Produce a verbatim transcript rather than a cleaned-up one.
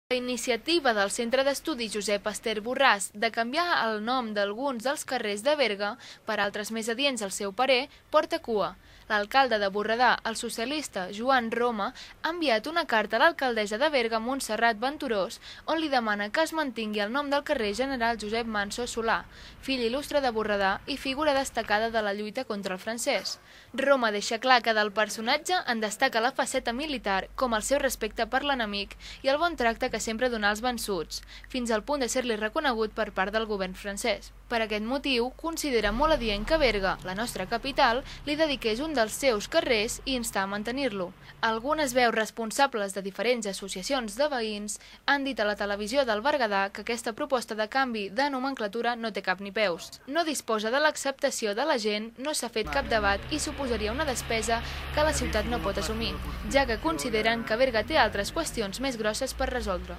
La iniciativa del Centre d'Estudis Josep Ester Borràs de canviar el nom d'alguns dels carrers de Berga per altres més adients al seu parer porta cua. L'alcalde de Borredà, el socialista Joan Roma, ha enviat una carta a l'alcaldessa de Berga, Montserrat Venturós, on li demana que es mantingui el nom del carrer General Josep Manso Solà, fill il·lustre de Borredà i figura destacada de la lluita contra el francès. Roma deixa clar que del personatge en destaca la faceta militar, com el seu respecte per l'enemic i el bon tracte que sempre donà als vençuts, fins al punt de ser-li reconegut per part del govern francès. Per aquest motiu, considera molt adient que Berga, la nostra capital, li dediqués un dels seus carrers i insta a mantenir-lo. Algunes veus responsables de diferents associacions de veïns han dit a la televisió del Berguedà que aquesta proposta de canvi de nomenclatura no té cap ni peus. No disposa de l'acceptació de la gent, no s'ha fet cap debat i suposaria una despesa que la ciutat no pot assumir, ja que consideren que Berga té altres qüestions més grosses per resoldre.